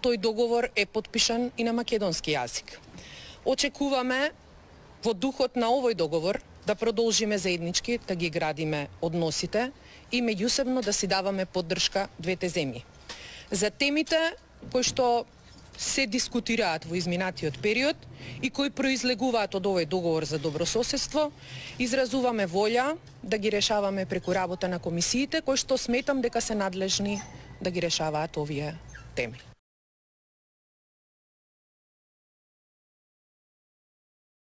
тој договор е потпишан и на македонски јазик. Очекуваме во духот на овој договор да продолжиме заеднички да ги градиме односите и меѓусебно да си даваме поддршка двете земји. За темите кои што се дискутираат во изминатиот период и кои произлегуваат од овој договор за добрососедство, изразуваме волја да ги решаваме преку работа на комисиите, кои што сметам дека се надлежни да ги решаваат овие теми.